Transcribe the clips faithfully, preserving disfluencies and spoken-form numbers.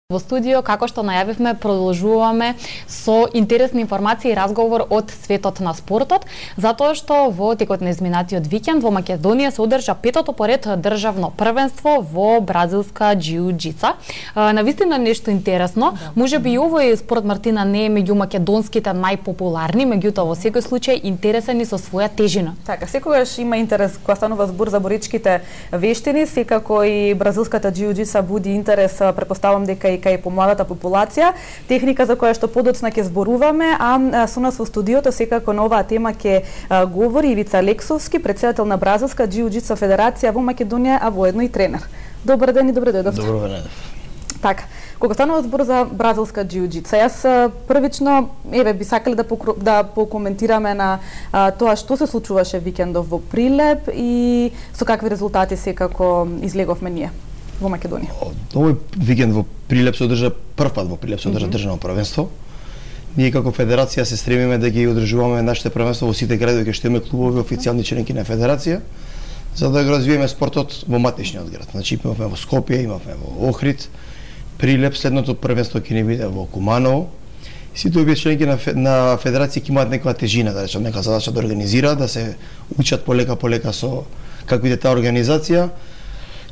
Во студио, како што најавивме, продолжуваме со интересни информации и разговор од светот на спортот, затоа што во текот на изминатиот викенд во Македонија се одржа петото поред државно првенство во бразилска џиу-џица. Навистина нешто интересно, да. Можеби и овој спорт, Мартина, не е меѓу македонските најпопуларни, меѓутоа во секој случај интересен и со своја тежина. Така, секогаш има интерес кога станува збор за боричките вештини, секако и бразилската џиу-џица буди интерес, претпоставам дека и кај помладата популација, техника за која што подоцна ќе зборуваме, а со нас во студиото секако на оваа тема ќе говори Ивица Алексовски, претседател на Бразилска џиу-џица федерација во Македонија, а воедно и тренер. Добар ден и добре дојдовте. Добро ден. Така, кога станува збор за бразилска џиу-џица, јас првично еве би сакале да покро... да покоментираме на а, тоа што се случуваше викендов во Прилеп и со какви резултати секако излеговме ние во Македонија. Овој викенд во Прилеп се одржа прв пат во Прилеп се одржа mm -hmm. државно првенство. Ние како федерација се стремиме да ги одржуваме нашите првенства во сите градови кај што имаме клубови официјални членки на федерација, за да го развиеме спортот во матичниот град. Значи имавме во Скопје, имавме во Охрид, Прилеп, следното првенство ќе ни биде во Куманово. Сите овие членки на, на федерација ќе имаат некоја тежина, да речем, нека задача да организираат, да се учат полека полека со како иде таа организација.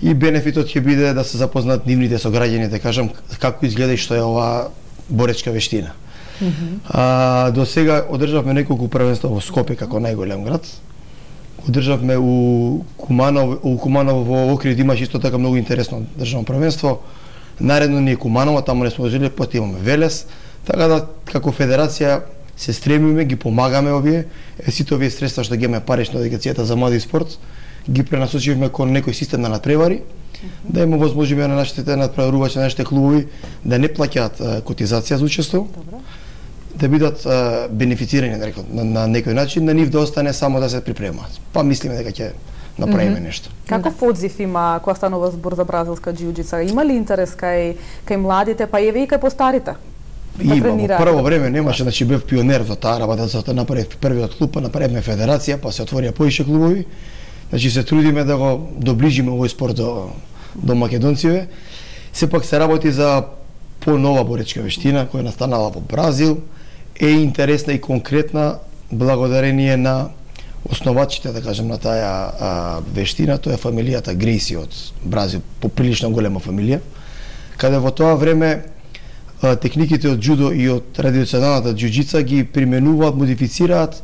И бенефитот ќе биде да се запознаат нивните со граѓаните, кажам како изгледа и што е оваа боречка вештина. Mm -hmm. А, до сега одржавме неколку првенства во Скопје како најголем град. Одржавме у Куманово, у Куманово во Охрид имаше исто така многу интересно државно првенство. Наредно ни е Куманово, таму не сме одржале, потоа имаме Велес. Така да како федерација се стремиме, ги помагаме овие, е, сите овие средства што ги имаме парична Агенцијата за млади спорт, ги пренасочивме кон некој систем на надпревари, mm -hmm. да има возможност на нашите надпреварувачи, на нашите клубови да не плаќаат котизација за учество, да бидат а, бенефицирани на, на некој начин, на нив да остане само да се припремаат. Па мислиме дека ќе направиме mm -hmm. нешто. Каков одзив има кога станува збор за бразилска џиу-џица? Има ли интерес кај кај младите, па еве и кај постарите? Да има, во прво време немаше, значи бев пионер во таа работа, затоа направив првиот клуб, па направивме федерација, па се отворија поише клубови. Значи се трудиме да го доближиме овој спорт до, до македонците. Сепак се работи за понова боречка вештина која настанала во Бразил, е интересна и конкретна благодарение на основачите, да кажем, на таа а, вештина, тоа е фамилијата Грейси од Бразил, поприлично голема фамилија, каде во тоа време а, техниките од џудо и од традиционалната џиу-џица ги применуваат, модифицираат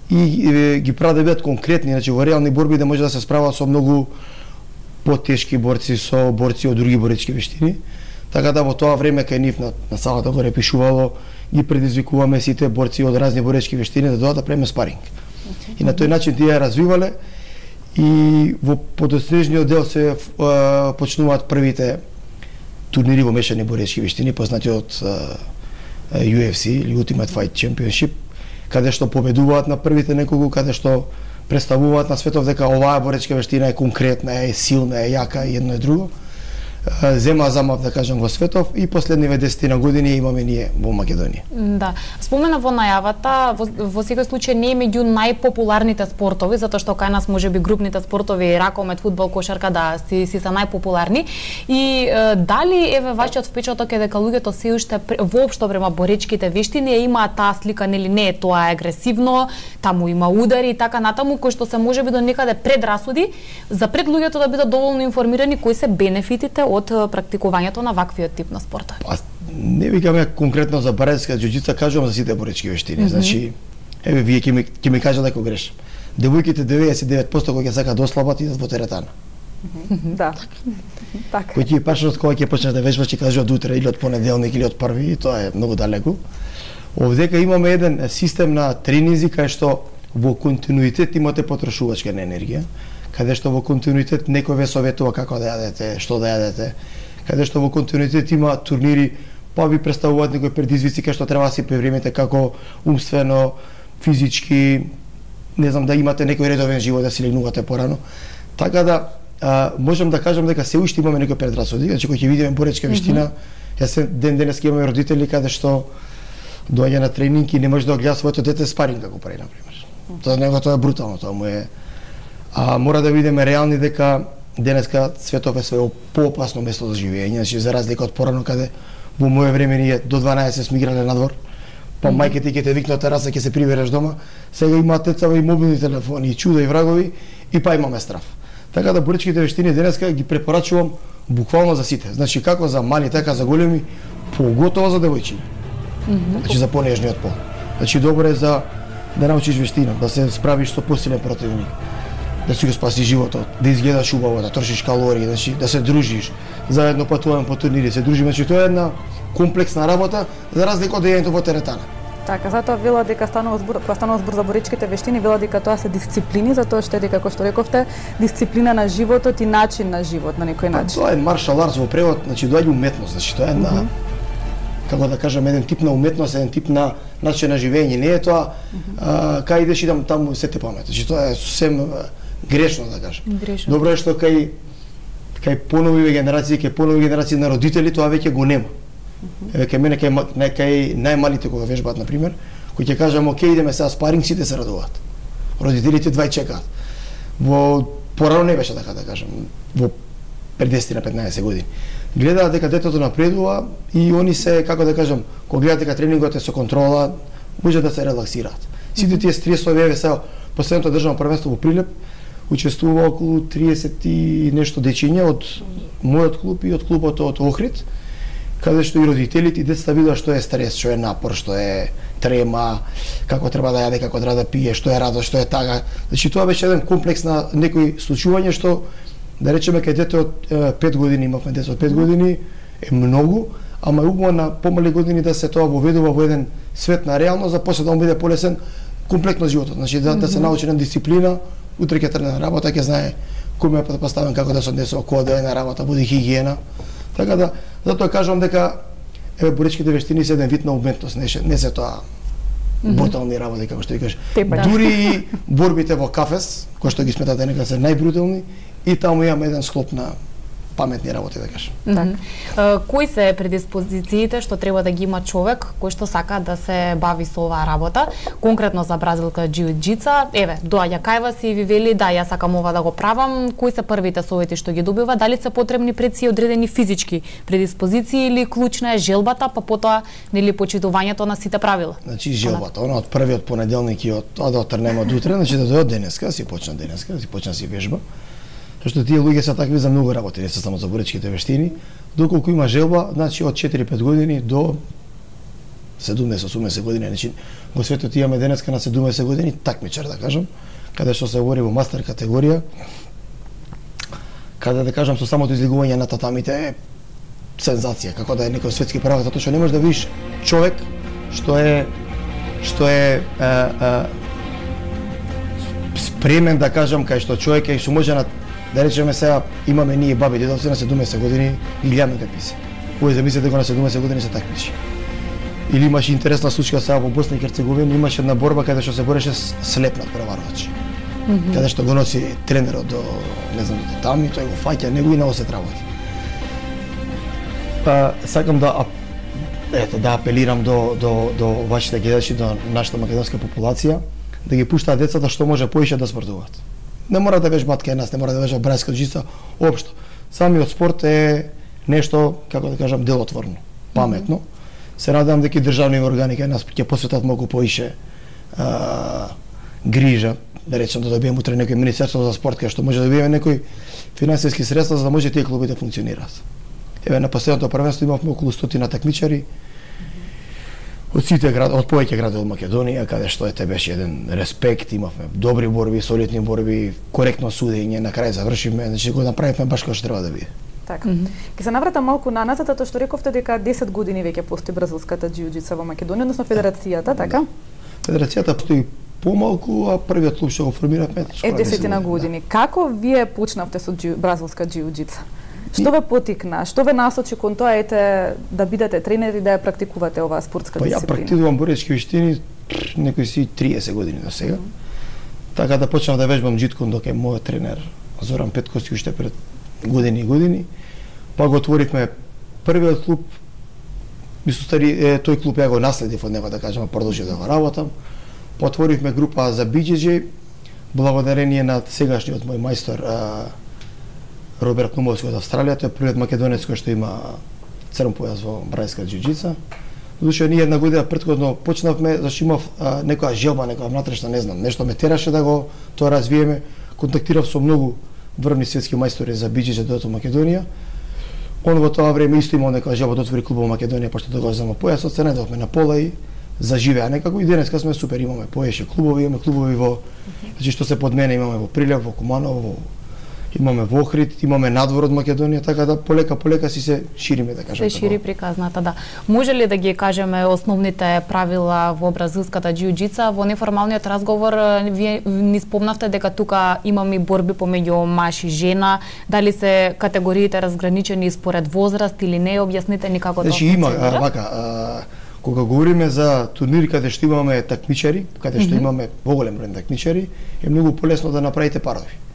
и е, ги прават да бидат конкретни, значи во реални борби да може да се справат со многу потешки борци, со борци од други боречки вештини. Така да во тоа време кај нив на, на салата горе пишувало, ги предизвикуваме сите борци од разни боречки вештини да дојдат да правиме спаринг. И на тој начин тие ја развивале и во подоснежниот дел се а, почнуваат првите турнири во мешани боречки вештини, познати од а, Ю Еф Си или Ultimate Fight Championship, каде што победуваат на првите неколку, каде што представуваат на светов дека оваа боречка вештина е конкретна, е силна, е јака и едно и друго. Зема замав, да кажам, во светов и последниве десетина години имаме ние во Македонија. Да, спомена во најавата, во, во секој случај не е меѓу најпопуларните спортови, затоа што кај нас можеби групните спортови, ракомет, фудбал, кошарка, да, си, си се најпопуларни. И е, дали еве вашиот впечаток е дека луѓето се уште воопшто према боречките вештини имаат таа слика, нели не е тоа агресивно, таму има удари и така натаму, кои што се можеби до некаде предрасуди, за пред луѓето да бидат доволно информирани кои се бенефитите од практикувањето на ваквиот тип на спорта? Па, не викаме конкретно за бразилска џиу-џица, кажувам за сите боречки вештини. Mm -hmm. Значи, еве вие ќе ми ќе ми кажат дека грешам. Девојките деветдесет и девет проценти кога ќе сакаат да ослабат идат во теретана. Mm -hmm. Да. Така. Кој ќе почнат кога ќе почнеш да вежбаш, ќе кажуваат утре или од понеделник или од први, и тоа е многу далеку. Овдека имаме еден систем на тренинзи кај што во континуитет имате потрошувачка на енергија, каде што во континуитет некој ве советува како да јадете, што да јадете, каде што во континуитет има турнири, па ви представуваат некои предизвици кај што треба да си припремите како умствено, физички, не знам, да имате некој редовен живот, да си легнувате порано. Така да а, можам да кажам дека се уште имаме некои предрасуди, значи кој ќе видиме боречка вештина, mm -hmm. јас ден денес ќе имаме родители каде што доаѓа на тренинг и не може да гледа своето дете спаринг како прави, например. Mm -hmm. Тоа него тоа е брутално, тоа му е. А мора да видиме реални дека денеска светов е све поопасно место за живење, значи за разлика од порано каде Во мое време ние до дванаесет сме играле надвор. Па mm-hmm. мајките ќе те викнат тераса, ќе се прибереш дома. Сега има деца и мобилни телефони, и чуда и врагови, и па имаме страв. Така да боричките вештини денеска ги препорачувам буквално за сите. Значи како за мали, така за големи, поготово за девојчиња. Mm-hmm. Значи за понежниот пол. Значи добро е за да научиш вештина, да се справиш со посилен противник, да си го спаси животот, да изгледаш убаво, да трошиш калории, значи да се дружиш, заедно патуваме по турнири, се дружиме, значи тоа е една комплексна работа за разлика од дејањето во теретана. Така, затоа вела дека станува збор, кога станува збор за боричките вештини, вела дека тоа се дисциплини, затоа што е дека како што рековте, дисциплина на животот и начин на живот на некој начин. Тоа е маршал арт во превод, значи доаѓа уметност, значи тоа е една mm -hmm. како да кажам еден тип на уметност, еден тип на начин на живење, не е тоа mm -hmm. а, кај идеш идам таму се те памет. Значи тоа е сосем грешно да кажам. Грешно. Добро е што кај кај понови генерации, кај понови генерации на родители тоа веќе го нема. Еве кај мене кај кај најмалите кога вежбаат на пример, кои ќе кажам оке идеме сега спаринг, сите се радуваат. Родителите двај чекаат. Во порано не беше така да кажам, во пред десет на петнаесет години. Гледаат дека детето напредува и они се како да кажам, кога гледаат дека тренингот е со контрола, може да се релаксираат. Сите тие стресови, еве сега последното државно првенство во Прилеп учествува околу триесет и нешто дечиња од мојот клуб и од клубот од Охрид, каде што и родителите и децата видат што е стрес, што е напор, што е трема, како треба да јаде, како треба да пие, што е радост, што е тага. Значи тоа беше еден комплекс на некои случувања што да речеме кај дете од пет години, имавме дете од пет години, е многу, ама е убаво на помали години да се тоа воведува во еден свет на реалност, за после да му биде полесен комплектно животот. Значи да, да се научи на дисциплина, утре ќе тргне на работа, ќе знае кој ме поставен, како да се однесува, кога да е на работа, буди хигиена. Така да, затоа кажувам дека еве боричките вештини се еден вид на уметност, не, не се тоа брутални работи, како што ти кажеш. Дури и борбите во кафес, кои што ги сметате нека се најбрутални, и таму имаме еден склоп на паметни работи, да кажам. Mm -hmm. uh, кои се предиспозициите што треба да ги има човек кој што сака да се бави со оваа работа, конкретно за бразилка џиу-џица? Еве, доаѓа кај вас и ви вели да, ја сакам ова да го правам. Кои се првите совети што ги добива? Дали се потребни пред си одредени физички предиспозиции или клучна е желбата, па потоа нели почитувањето на сите правила? Значи желбата, она од првиот понеделник и од тоа да отрнеме од утре, значи да дојдат денеска, си почна денеска, си почна си вежба. Што тие луѓе се такви за многу работи, не се само за боричките вештини, доколку има желба, значи од четири-пет години до седумдесет-осумдесет години, значи во светот имаме денеска на седумдесет години такмичар да кажам, каде што се говори во мастер категорија, каде да кажам со самото излегување на татамите е сензација, како да е некој светски правак, затоа што не можеш да видиш човек што е што е, е, е спремен да кажам кај што човек е што може на да речеме сега имаме ние баби дедовци на седумдесет години и гледаме какви се. Овој замислете го на седумдесет години се такмичи. Или имаше интересна случка сега во Босна и Херцеговина, имаше една борба каде што се бореше слепнат преварувач. Mm -hmm. Каде што го носи тренерот до не знам до таму и тој го фаќа него и на осет работи. Па сакам да ете да апелирам до до до вашите гледачи, до нашата македонска популација да ги пуштаат децата што може поише да спортуваат. Не мора да вежбаат кај нас, не мора да вежбаат бразилска џица, општо. Самиот спорт е нешто, како да кажам, делотворно, паметно. Mm -hmm. Се надевам дека и државни органи кај нас ќе посветат многу поише а, грижа, да речем да добиеме утре некој министерство за спорт кај што може да добиеме некои финансиски средства за да може тие клубите да функционираат. Еве на последното првенство имавме околу стотина такмичари од сите град, од повеќе градови од Македонија, каде што ете беше еден респект, имавме добри борби, солидни борби, коректно судење, на крај завршивме, значи го направивме баш како што треба да биде. Така. Mm -hmm. Ке се навратам малку наназад, затоа што рековте дека десет години веќе постои бразилската џиу-џица во Македонија, односно федерацијата, така? Федерацијата постои помалку, а првиот клуб што го формиравме е десетина години. Да. Како вие почнавте со џиу, бразилска џиу-џица? Што ве потикна? Што ве насочи кон тоа ете да бидете тренери да ја практикувате оваа спортска па, дисциплина? Па ја практикувам боречки вештини некои си триесет години до сега. Mm -hmm. Така да почнав да вежбам џиткон док е мојот тренер Зоран Петковски уште пред години и години. Па го отворивме првиот клуб. Мислам стари е, тој клуб ја го наследив од него да кажам, продолжи да го работам. Па отворивме група за би џи џи благодарение на сегашниот мој мајстор а, Роберт Нумовски од Австралија, тој е првиот македонец кој што има црн појас во бразилска џиу-џица. Додуше ние една година претходно почнавме, зашто имав а, некоја желба, некоја внатрешна, не знам, нешто ме тераше да го тоа развиеме. Контактирав со многу врвни светски мајстори за биџиџе дојдов во Македонија. Он во тоа време исто имал некоја желба да отвори клуб во Македонија, пошто да го зема појасот, се најдовме на пола и заживеа некако и денеска сме супер, имаме поеше клубови, имаме клубови во, значи што се под мене имаме во Прилеп, во Куманово, во имаме во Охрид, имаме надвор од Македонија, така да полека полека си се шириме, да кажам. Се шири приказната, да. Може ли да ги кажеме основните правила во бразилската џиу-џица? Во неформалниот разговор вие ни спомнавте дека тука имаме и борби помеѓу маж и жена, дали се категориите разграничени според возраст или не, објасните ни како тоа функционира. Значи има а, вака, а, кога говориме за турнири каде што имаме такмичари, каде што mm -hmm. имаме поголем број такмичари, е многу полесно да направите парови.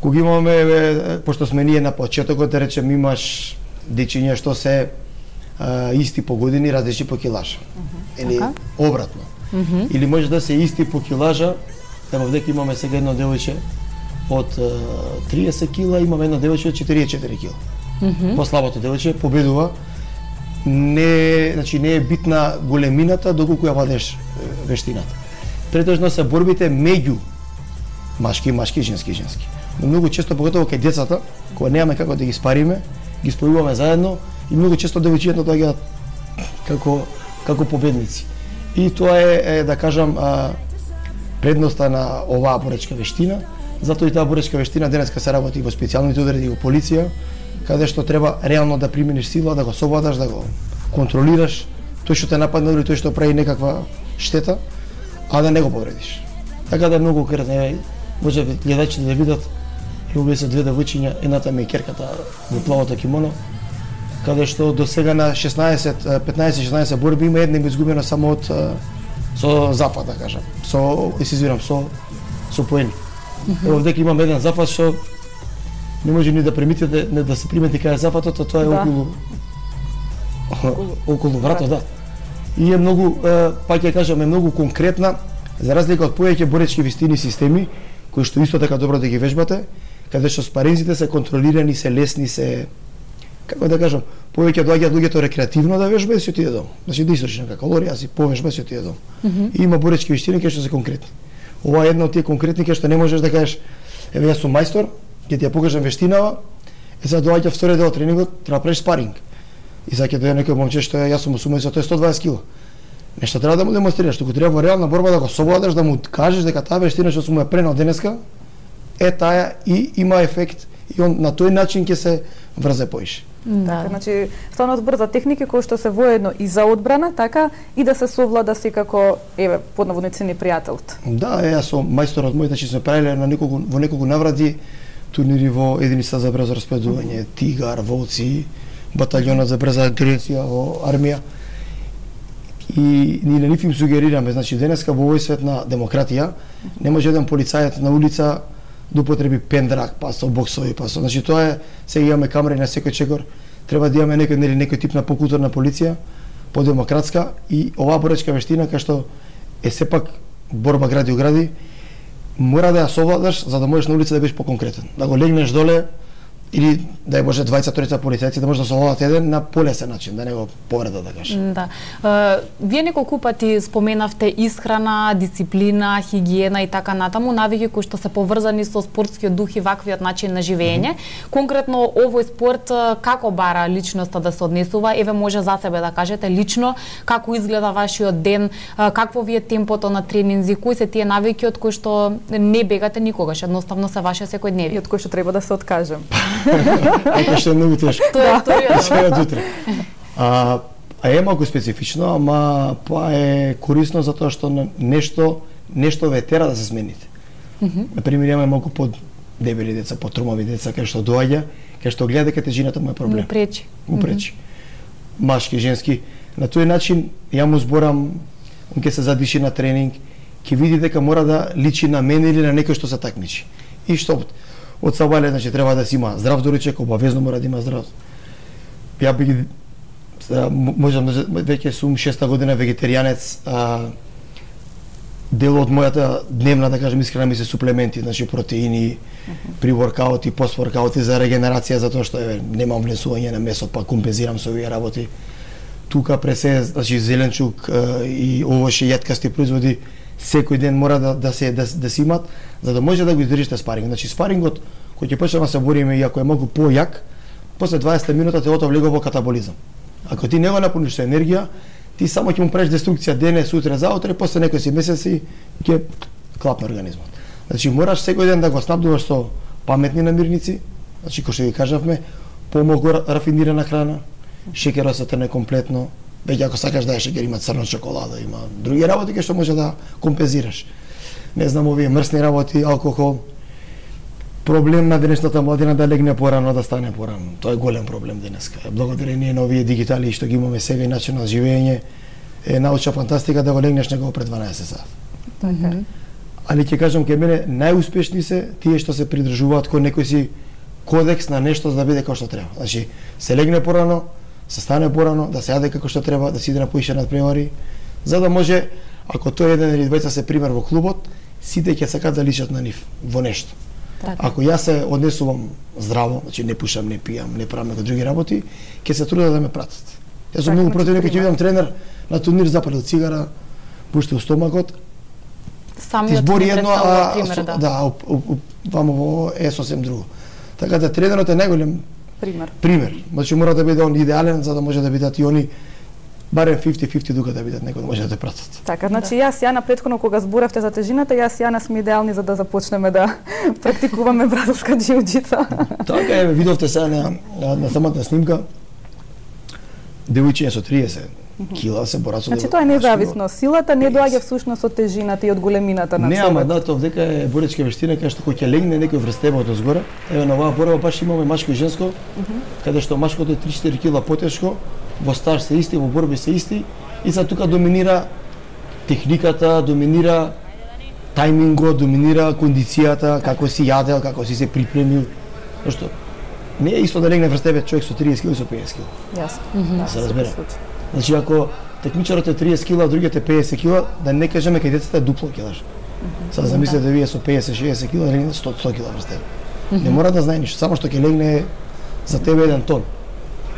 Кога имаме, пошто сме ние на почетокот, да речем, имаш дечиња што се а, исти по години, различни по килажа. Uh -huh. Или okay. обратно. Uh -huh. Или може да се исти по килажа, ево дека имаме сега едно девојче од а, триесет кила, имаме едно девојче од четириесет и четири кила. Uh -huh. Послабото девојче победува. Не, значи не е битна големината доколку ја владееш вештината. Претежно се борбите меѓу машки, машки, женски, женски. Но многу често, поготово кај децата, кога немаме како да ги спариме, ги спојуваме заедно и многу често девојчињата доаѓаат како како победници. И тоа е, е да кажам, а, предноста на оваа боречка вештина, затоа и таа боречка вештина денеска се работи во специјалните одреди во полиција, каде што треба реално да примениш сила, да го совладаш, да го контролираш тој што те нападна или тој што прави некаква штета, а да не го повредиш. Така да многу кратко може гледачите да видат, и се две девојчиња, едната ми е керката во плавото кимоно, каде што до сега на шеснаесет, петнаесет шеснаесет борби има една изгубена само од со запад, да кажам. Со, се извинам, со со поени. Mm -hmm. Ево дека имам еден запад што не може ни да примитите, не да се примети кај западот, а тоа е да. околу околу вратот, да. И е многу, пак ќе кажам, е многу конкретна, за разлика од повеќе боречки вистини системи, кои што исто така добро да ги вежбате, каде што спаринзите се контролирани, се лесни, се, како да кажам, повеќе доаѓаат луѓето рекреативно да вежбаат и се отиде дом. Значи да истроши нека калорија, а си повежба и се отиде дом. Mm -hmm. И има боречки виштини кои што се конкретни. Ова е една од тие конкретни кои што не можеш да кажеш, еве јас сум мајстор, ќе ти ја покажам вештинава, е сега доаѓа втори дел од тренингот, треба да правиш спаринг. И сега ќе дојде некој момче што е, јас сум осумдесет, тој е сто дваесет кила. Нешто треба да му демонстрираш, туку треба во реална борба да го совладаш, да му кажеш дека таа вештина што сум ја пренал денеска е таа и има ефект и он на тој начин ќе се врзе поише. Да. Така, значи, станот збор за техники кои што се воедно и за одбрана, така и да се совлада секако, еве, под наводници непријателот. Да, е, јас сум мајстор од мој, значи сме правиле на неколку во неколку наврати турнири во единица за брзо распредување, mm -hmm. Тигар, Волци, баталјонот за брза интервенција во армија. И ние на нив им сугерираме, значи денеска во овој свет на демократија не може еден полицајец на улица да употреби пендрак, па со боксови, па со, значи тоа е, сега имаме камери на секој чекор, треба да имаме некој нели некој тип на покултурна полиција, подемократска и оваа боречка вештина кај што е сепак борба гради у гради, мора да ја совладаш за да можеш на улица да бидеш поконкретен, да го легнеш доле или да е може дваесет-триесет полицајци да може да совладат еден на полесен начин, да не го повреда, да кажем. Да. Uh, вие неколку пати споменавте исхрана, дисциплина, хигиена и така натаму, навики кои што се поврзани со спортскиот дух и ваквиот начин на живење. Mm -hmm. Конкретно овој спорт како бара личноста да се однесува? Еве може за себе да кажете лично како изгледа вашиот ден, какво ви е темпото на тренинзи, кои се тие навики од кои што не бегате никогаш, едноставно се ваше секојдневие. И од кои што треба да се откажем. Така што е многу тешко. Тоа е вториот. Сега од утре. А, а е малку специфично, ама па е корисно затоа што нешто нешто ве тера да се смените. Mm -hmm. Например, имаме малку под дебели деца, под тромави деца, кај што доаѓа, кај што гледа дека тежината му е проблем. Му пречи. Му пречи. Mm -hmm. Машки, женски. На тој начин ја му зборам, он ќе се задиши на тренинг, ќе види дека мора да личи на мене или на некој што се такмичи. И што од сабале, значи треба да си има здрав доручек, обавезно мора да има здрав. Ја би ги можам веќе сум шеста година вегетаријанец, а, дел од мојата дневна, да кажем, искрена ми се суплементи, значи протеини, uh -huh. при воркаути, постворкаути за регенерација, затоа што еве немам внесување на месо, па компензирам со овие работи. Тука пресе, значи зеленчук и овошје јаткасти производи секој ден мора да да се да, да се имат за да може да го издржите спаринг. Значи спарингот кој ќе почнеме да се бориме и ако е малку појак, после дваесет минута телото влегува во катаболизам. Ако ти не го напуниш со енергија, ти само ќе му правиш деструкција дене, сутре, заутре, после некои месеци ќе клапне организмот. Значи мораш секој ден да го снабдуваш со паметни намирници, значи кој што ги кажавме, помалку рафинирана храна, шеќерот се трне комплетно, веќе ако сакаш да е шеќер, има црна чоколада, има други работи кои што може да компензираш. Не знам, овие мрсни работи, алкохол. Проблем на денешната младина да легне порано, да стане порано. Тоа е голем проблем денеска. Благодарение на овие дигитали што ги имаме сега и начин на живење, е научна фантастика да го легнеш него пред дванаесет сати. Така. Али ќе кажам ке мене најуспешни се тие што се придржуваат кон некој си кодекс на нешто за да биде како што треба. Значи, се легне порано, се стане порано, да се јаде како што треба, да се иде на поише надпревари, за да може, ако тој еден или двајца се пример во клубот, сите ќе сакат да личат на нив во нешто. Так. Ако јас се однесувам здраво, значи не пушам, не пијам, не правам некои други работи, ќе се трудат да ме пратат. Јас сум многу против некој ќе видам тренер на турнир запалил цигара, пушти у стомакот. Самиот избори едно, а пример, да. Да, вамо во е сосем друго. Така да тренерот е најголем пример. Пример. Значи мора да биде он идеален за да може да бидат и они барем фифти фифти дука да бидат некој да може да те пратат. Така, значи јас ја на претходно кога зборавте за тежината, јас и Јана сме идеални за да започнеме да практикуваме бразилска џиу-џица. Така е, видовте сега на, на, на самата снимка девојчиња со триесет кила се борат со. Значи тоа е независно. Силата не доаѓа всушност од тежината и од големината на човекот. Не, ама да, тоа дека е боречка вештина кај што кој ќе легне некој врз тебе од озгора. Еве на оваа борба баш имаме машко и женско, uh -huh. каде што машкото е три-четири кила потешко, во стаж се исти, во борби се исти и за тука доминира техниката, доминира тајмингот, доминира кондицијата, како си јадел, како си се припремил. Зашто не е исто да легне врз тебе човек со триесет кила и со пеесет кила. Јасно. Mm -hmm. Да се разбере. Значи ако текмичарот е триесет кила, а другиот е пеесет кила, да не кажеме кај децата е дупло килаш. Mm -hmm. Сега замислете да вие со пеесет-шеесет кила легне сто кила врз тебе. Mm -hmm. Не мора да знае ништо, само што ќе легне за тебе еден тон.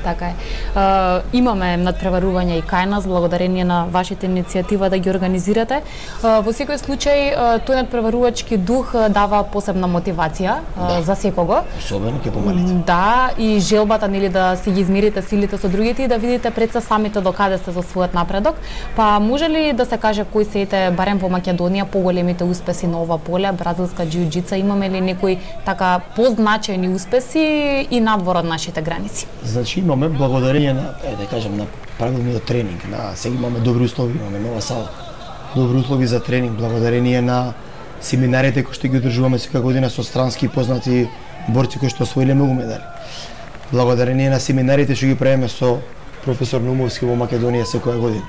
Така е. Uh, имаме надпреварување и кај нас, благодарение на вашите иницијатива да ги организирате. Uh, во секој случај, uh, тој надпреварувачки дух uh, дава посебна мотивација uh, да. за секого. Особено ке помалите. Да, и желбата нели да си ги измерите силите со другите и да видите пред се самите докаде сте за својот напредок. Па може ли да се каже кои се ете барем во Македонија поголемите успеси на ова поле, бразилска џиу-џица, имаме ли некои така позначајни успеси и надвор од нашите граници? Значи имаме благодарение на, е, да кажем, на правилниот тренинг, на сега имаме добри услови, имаме нова сала, добри услови за тренинг, благодарение на семинарите кои што ги одржуваме секоја година со странски познати борци кои што освоиле многу медали. Благодарение на семинарите што ги правиме со професор Нумовски во Македонија секоја година.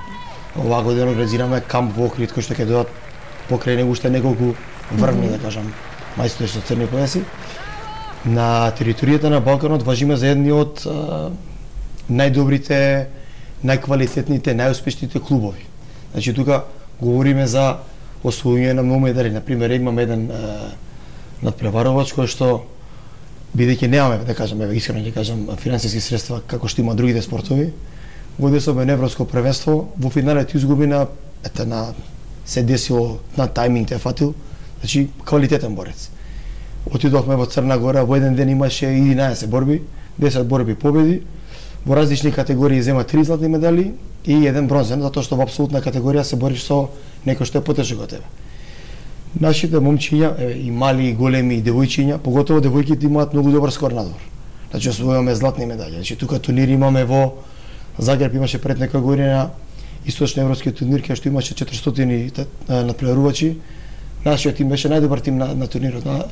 Оваа година организираме камп во Охрид кој што ќе дојдат покрај него уште неколку врвни, да кажам, мајстори со црни појаси. На територијата на Балканот важиме за едни од а, најдобрите, најквалитетните, најуспешните клубови. Значи тука говориме за освојување на многу медали. Например, имаме еден а, надпреварувач кој што бидејќи немаме, да кажам, еве искрено ќе кажам, финансиски средства како што има другите спортови, во десове на европско првенство, во финалот изгуби на ете на се десило на тајминг те фатил, значи квалитетен борец. Отидовме во Црна Гора, во еден ден имаше единаесет борби, десет борби победи, во различни категории зема три златни медали и еден бронзен, затоа што во апсолутна категорија се бориш со некој што е потешок од тебе. Нашите момчиња, еве и мали и големи и девојчиња, поготово девојките имаат многу добар скор надвор. Значи освојуваме златни медали. Значи тука турнири имаме во Загреб, имаше пред некоја година источноевропски турнир кај што имаше четиристотини надпреварувачи. Нашиот тим беше најдобар тим на, на турнирот. На,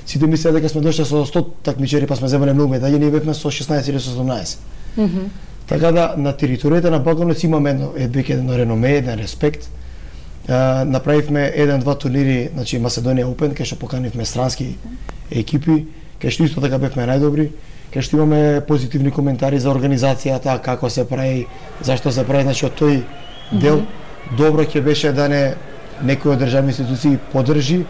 сите мислеа дека сме дошли со сто такмичари, па сме земале многу медали, ние бевме со шеснаесет или со седумнаесет. Mm -hmm. Така да на територијата на Балканот имаме едно веќе едно реноме, еден респект. Uh, направивме еден-два турнири, значи Macedоnia Open, кај што поканивме странски екипи, кај што исто така бевме најдобри, кај што имаме позитивни коментари за организацијата, како се прави, зашто се прави, значи од тој дел mm -hmm. добро ќе беше да не некој од државни институции поддржи,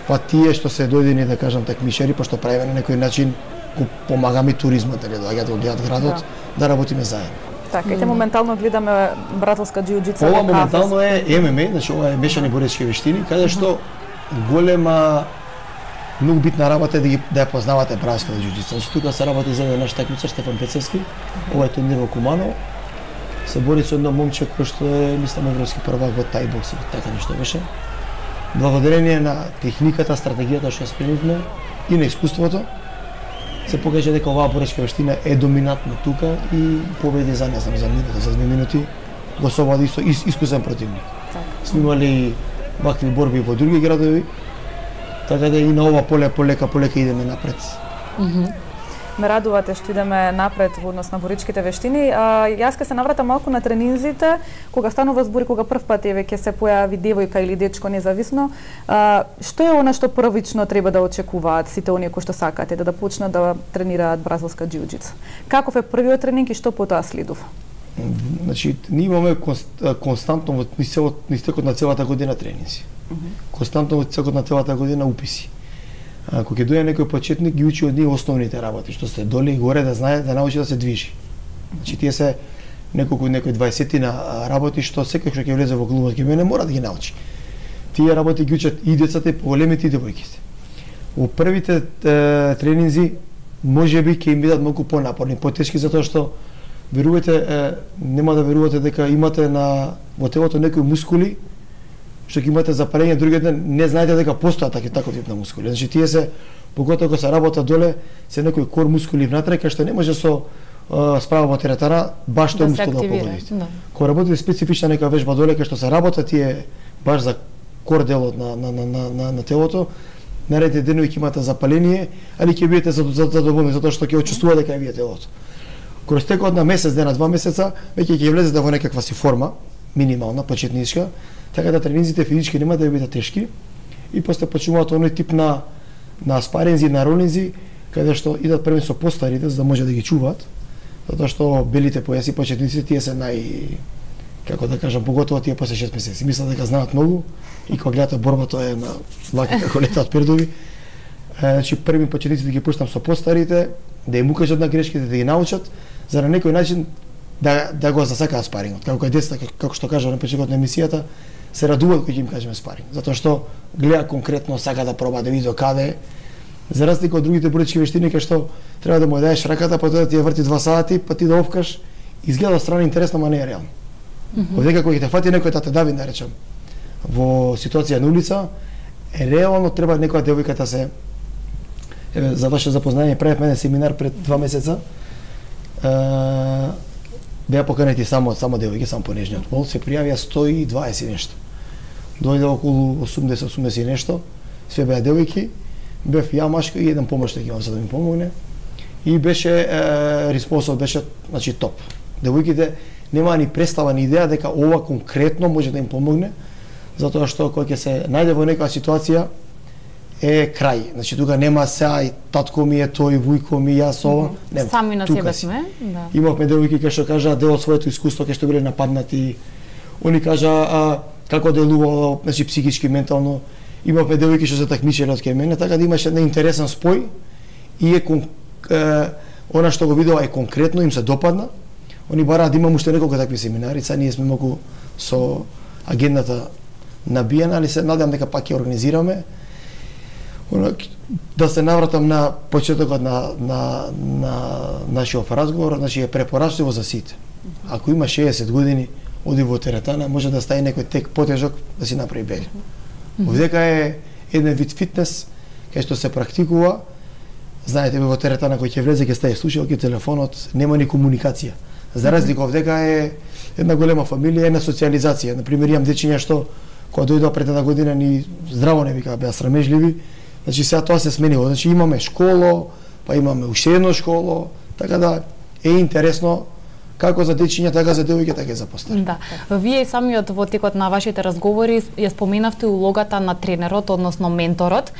па тие што се дојдени да кажам такмишери, пошто правиме на некој начин го помагаме туризмот, дали доаѓаат да гледаат градот, да, да работиме заедно. Така, ете моментално гледаме бразилска џиу-џица. Ова моментално е Ем Ем А, значи ова е мешани боречки вештини, каде што голема многу битна работа е да ги да ја познавате бразилската џиу-џица. Значи тука се работи за еден наш такмичар Стефан Пецевски, ова е турнир во Куманово. Се бори со едно момче кој што е мислам европски првак во тај бокс, така нешто беше. Благодарение на техниката, стратегијата што спремивме и на искуството, се покажа дека оваа боречка вештина е доминантна тука и победи за не знам за минути, за две минути го совади со ис, искусен противник. Сме имали вакви борби во други градови, така да и на ова поле полека полека идеме напред. Mm -hmm. Ме радувате што идеме напред во однос на боричките вештини. А, јас ке се навратам малку на тренинзите, кога станува збор, кога прв пат еве ќе се појави девојка или дечко независно. А, што е она што првично треба да очекуваат сите оние кои што сакаат да да почнат да тренираат бразилска џиу-џица? Каков е првиот тренинг и што потоа следува? Значи, ние имаме константно во истекот на целата година тренинзи. Mm -hmm. Константно во истекот на целата година уписи. Ако ќе дојде некој почетник, ги учи од ние основните работи, што се доле и горе да знае, да научи да се движи. Значи тие се неколку некои дваесетина работи што секој што ќе влезе во клубот ќе мене мора да ги научи. Тие работи ги учат и децата, и поголемите и девојките. Во првите е, тренинзи можеби ќе им бидат малку понапорни, потешки затоа што верувате, нема да верувате дека имате на во телото некои мускули што ќе имате запалење другиот ден, не знаете дека постојат такви таков тип на мускули. Значи тие се поготово кога се работа доле, се некои кор мускули внатре кај што не може со а, справа во теретана баш тој да мускул да погодите. Да. Кога работите специфична нека вежба доле кај што се работа тие баш за кор делот на на на на, на, на телото, наредните денови ќе имате запаление, али ќе бидете задоволни затоа што ќе очувствувате дека ја вие телото. Кога стекот на месец дена, два месеца, веќе ќе влезете во некаква си форма, минимална, почетничка, така да тренинзите физички нема да бидат тешки и после почнуваат оној тип на на спаринзи, на ролинзи, каде што идат први со постарите за да може да ги чуваат, затоа што белите појаси почетниците тие се нај како да кажам, поготово тие после шест месеци. Мислат дека знаат многу и кога гледате борба тоа е на лаки како летаат пердови. Значи први почетниците да ги пуштам со постарите, да им укажат на грешките, да ги научат, за на некој начин да да го засакаат спарингот. Како кај децата, како што кажа на почетокот на емисијата, се радуваат кога ќе им кажеме спаринг, затоа што гледа конкретно, сака да проба да види до каде. За разлика од другите борички вештини кај што треба да му даеш раката, па тоа да ти ја врти два сати, па ти да овкаш, изгледа од страна интересно, ама не е реално. Mm -hmm. Овдека кога ќе те фати некој да те дави, да речем, во ситуација на улица, е реално треба некоја девојка да се еве за ваше запознање правев мене семинар пред два месеца. Е, беа поканети само само девојки, само по нежниот пол, се пријавија сто и дваесет нешто. Дојде околу осумдесет осумдесет нешто, све беа девојки, бев ја машка и еден помошник имам за да ми помогне. И беше е, респонсот беше значи топ. Девојките немаа ни представа ни идеја дека ова конкретно може да им помогне, затоа што кога ќе се најде во некоја ситуација е крај. Значи тука нема сега и татко ми е тој, вујко ми, јас ова. Нема. Сами на себе сме. Да. Имавме девојки кои што кажаа дел од своето искуство кај што биле нападнати. Они кажаа а, како делувало, значи психички, ментално. Имавме девојки што се такмичеле од кај мене, така да имаше еден интересен спој и е, е она што го видела е конкретно, им се допадна. Они бараат да имам уште неколку такви семинари, сега ние сме многу со агендата набиена, али се надевам дека пак ќе организираме. Да се навратам на почетокот на, на, на нашиот разговор, значи е препорачливо за сите. Ако има шеесет години, оди во теретана, може да стаи некој тек потежок да си направи бега. Овдека е еден вид фитнес, кај што се практикува. Знаете, во теретана кој ќе влезе, ќе стаи слушалки, телефонот, нема ни комуникација. За разлика овдека е една голема фамилија, една социализација. Например, имам дечиња што кога дојдоа пред една година ни здраво не вика, беа срамежливи. Значи сега тоа се сменило. Значи имаме школо, па имаме уште едно школо, така да е интересно како за дечиња, така за девојки, така и за постари. Да. Вие самиот во текот на вашите разговори ја споменавте улогата на тренерот, односно менторот.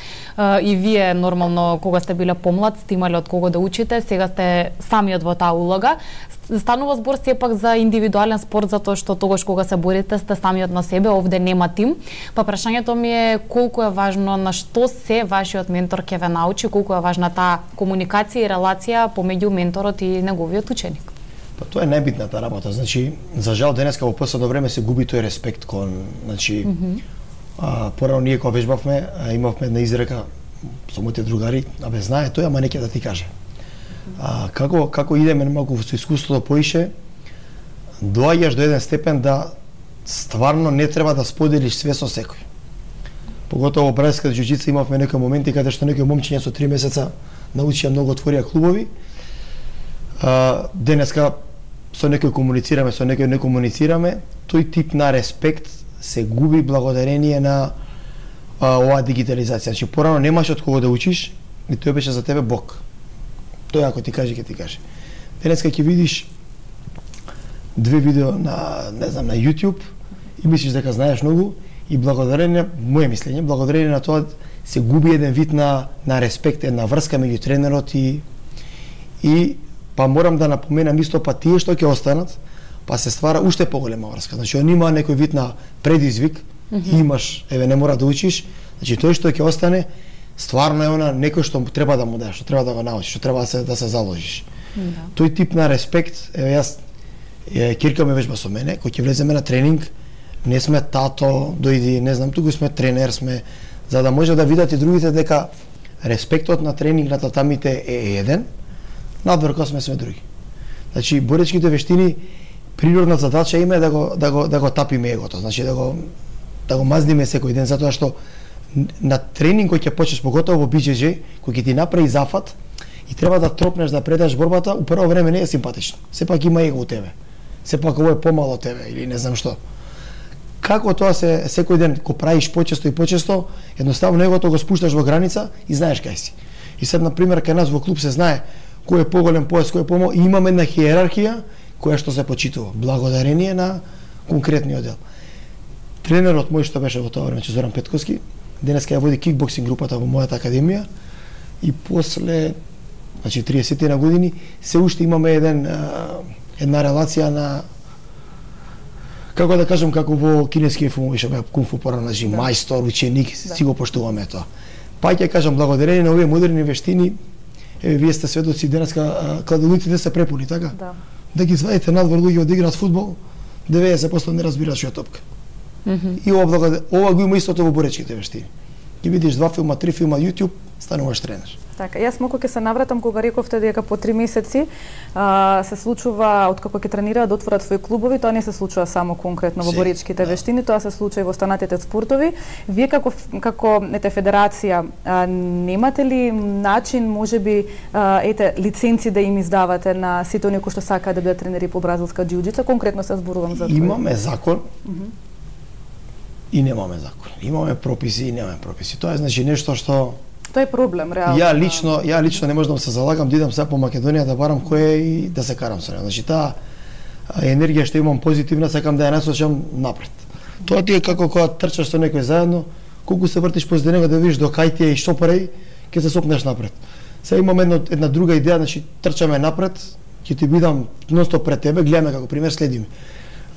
И вие нормално кога сте биле помлад, сте имале од кого да учите, сега сте самиот во таа улога. Станува збор сепак за индивидуален спорт, затоа што тогаш кога се борите сте самиот на себе, овде нема тим. Па прашањето ми е колку е важно, на што се вашиот ментор ќе ве научи, колку е важна таа комуникација и релација помеѓу менторот и неговиот ученик. Па тоа е најбитната работа. Значи, за жал денеска во последно време се губи тој респект кон, значи, mm -hmm. а, порано ние кога вежбавме, а, имавме една изрека со моите другари, абе знае тој, ама не ќе да ти каже. А, како како идеме малку со искуството поише, доаѓаш до еден степен да стварно не треба да споделиш све со секој. Поготово во бразилската џуџица имавме некои моменти каде што некои момчиња со три месеца научија многу, отворија клубови. А, денеска со некој комуницираме, со некој не комуницираме, тој тип на респект се губи благодарение на а, оваа дигитализација. Значи порано немаш од кого да учиш, и тој беше за тебе Бог. Тој ако ти каже, ќе ти каже. Денеска ќе видиш две видео на, не знам, на YouTube и мислиш дека знаеш многу и благодарение, моје мислење, благодарение на тоа се губи еден вид на на респект, една врска меѓу тренерот и и па морам да напоменам исто, па тие што ќе останат, па се ствара уште поголема врска. Значи он има некој вид на предизвик, mm -hmm. имаш, еве не мора да учиш, значи тој што ќе остане стварно е она некој што треба да му дадеш, што треба да го научиш, што треба да се да се заложиш. Да. Тој тип на респект, еве јас е, Кирка ме вежба со мене, кој ќе влеземе на тренинг, не сме тато, дојди, не знам, туку сме тренер, сме за да може да видат и другите дека респектот на тренинг на татамите е еден, надвор сме сме други. Значи боречките вештини природна задача има е да го да го да го тапиме егото, значи да го да го мазниме секој ден, затоа што на тренинг кој ќе почнеш, поготово во би џе џе, кој ќе ти направи зафат и треба да тропнеш да предаш борбата, у прво време не е симпатично. Сепак има его у тебе. Сепак ово е помало од тебе или не знам што. Како тоа се секој ден го правиш почесто и почесто, едноставно егото го спушташ во граница и знаеш кај си. И сега на пример кај нас во клуб се знае кој е поголем пояс, кој е помал, и имаме една хиерархија која што се почитува благодарение на конкретниот дел. Тренерот мој што беше во тоа време, Зоран Петковски, денеска ја води кикбоксинг групата во мојата академија и после, значи триесет на години, се уште имаме еден една релација на, како да кажам, како во кинескиот филм беше кунг-фу порано, значи да. Мајстор, ученик, да. Си го поштуваме тоа. Па ќе кажам благодарение на овие модерни вештини, еве вие сте сведоци денеска кладилниците се препуни, така? Да. Да ги извадите надвор луѓе да играат фудбал, деветдесет проценти не разбираат што е топка. Mm -hmm. И ова, ова го има истото во боречките вештини. Ги видиш два филма, три филма YouTube, стануваш тренер. Така, јас малку ќе се навратам кога рековте дека по три месеци а, се случува откако ќе тренираат да отворат своји клубови, тоа не се случува само конкретно во боречките да. вештини, тоа се случува и во останатите спортови. Вие како како ете федерација а, немате ли начин можеби а, ете лиценци да им издавате на сите оние кои што сакаат да бидат тренери по бразилска џиу-џица, конкретно се зборувам за тоа. Имаме закон. Mm -hmm. И немаме закон. Имаме прописи и немаме прописи. Тоа е значи нешто што тоа е проблем реално. Ја лично, ја лично не можам да се залагам да идам сега по Македонија да барам кој е и да се карам со него. Значи таа енергија што имам позитивна, сакам да ја насочам напред. Тоа ти е како кога трчаш со некој заедно, колку се вртиш позади него да видиш до кај ти е и што прави, ќе се сопнеш напред. Сега имам една, една друга идеја, значи трчаме напред, ќе ти бидам ностоп пред тебе, гледаме како пример, следиме.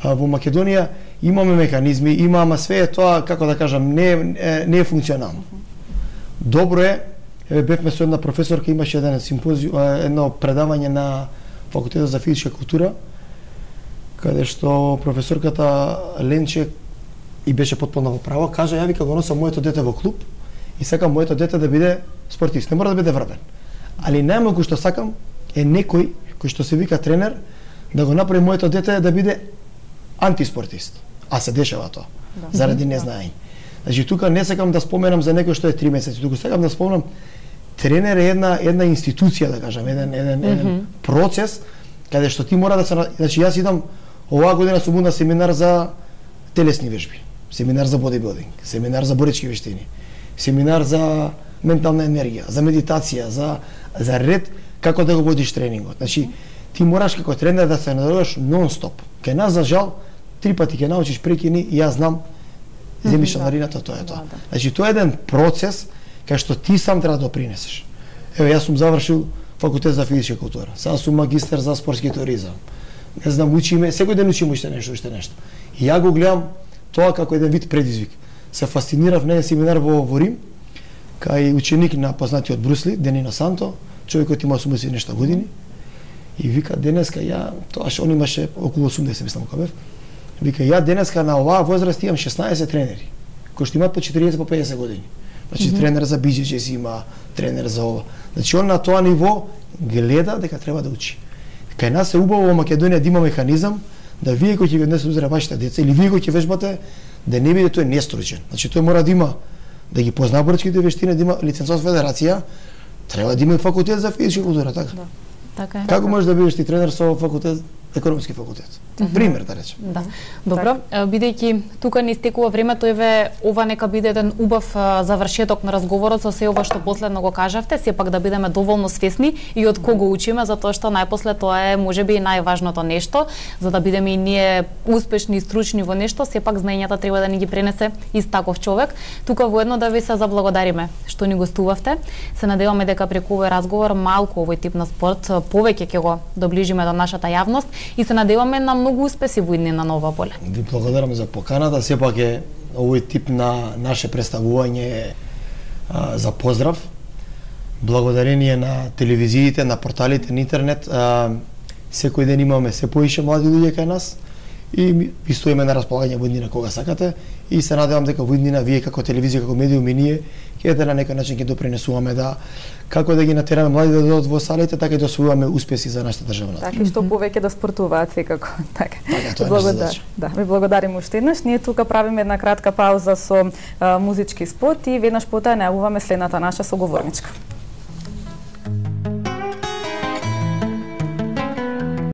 Во Македонија имаме механизми, има, ама све е тоа, како да кажам, не, не, не е функционално. Добро е, еве бевме со една професорка, имаше еден симпозиум, едно предавање на факултетот за физичка култура, каде што професорката Ленче и беше потполно во право, кажа, ја вика го носам моето дете во клуб и сакам моето дете да биде спортист, не мора да биде врбен. Али најмалку што сакам е некој кој што се вика тренер да го направи моето дете да биде антиспортист. А се дешава тоа. Да. Заради незнаење. Значи тука не сакам да споменам за некој што е три месеци, туку сакам да спомнам тренер е една една институција, да кажам, еден еден, mm -hmm. еден процес каде што ти мора да се, значи јас идам оваа година сум на семинар за телесни вежби, семинар за бодибилдинг, семинар за боречки вештини, семинар за ментална енергија, за медитација, за за ред како да го водиш тренингот. Значи ти мораш како тренер да се надоруваш нон-стоп. Кај нас, за жал, три пати ќе научиш прекини и јас знам, земиш шанарината, тоа е тоа. Значи, тоа е еден процес кај што ти сам треба да допринесеш. Еве, јас сум завршил факултет за физичка култура. Сега сум магистар за спортски туризам. Не знам, учиме, секој ден учиме уште нешто, уште нешто. И ја го гледам тоа како еден вид предизвик. Се фасцинирав на еден семинар во, во Рим, кај ученик на познатиот Брусли, Денина Санто, човекот има осумдесет и нешто години, и вика, денеска ја, тоаш он имаше околу осумдесет, мислам кога бев, вика, ја денеска на оваа возраст имам шеснаесет тренери, кои што имаат по четириесет по педесет години. Значи, mm -hmm. тренер за би џи џи си има, тренер за ова. Значи, он на тоа ниво гледа дека треба да учи. Кај нас е убаво во Македонија да има механизам да вие кои ќе ги однесете вашите деца или вие кои ќе вежбате, да не биде тој нестручен. Значи, тој мора да има, да ги познава боречките вештини, да има лицензот федерација, треба да има и факултет за физичка култура, така? Да. Така е. Како можеш да бидеш ти тренер со факултет, економски факултет? Mm -hmm. Пример, да речем. Да. Добро, бидејќи тука не истекува времето, еве ова нека биде еден убав завршеток на разговорот со се ова што последно го кажавте, сепак да бидеме доволно свесни и од кого учиме, затоа што најпосле тоа е можеби и најважното нешто, за да бидеме и ние успешни и стручни во нешто, сепак знаењата треба да ни ги пренесе ист таков човек. Тука воедно да ви се заблагодариме што ни гостувавте. Се надеваме дека преку овој разговор малку овој тип на спорт повеќе ќе го доближиме до нашата јавност и се надеваме на многу успеси во иднина на ова поле. Ви благодарам за поканата, сепак е овој тип на наше представување а, за поздрав. Благодарение на телевизиите, на порталите, на интернет, а, секој ден имаме се поише млади луѓе кај нас и ви стоиме на располагање во иднина кога сакате и се надевам дека во иднина вие како телевизија, како медиум и ние ќе на некој начин ќе допринесуваме да како да ги натераме млади да дојдат во салите, така и да освојуваме успеси за нашата држава. Така и што повеќе да спортуваат секако. Така. Така, тоа е наша задача. Да, ви благодариме уште еднаш. Ние тука правиме една кратка пауза со а, музички спот и веднаш потоа најавуваме следната наша соговорничка.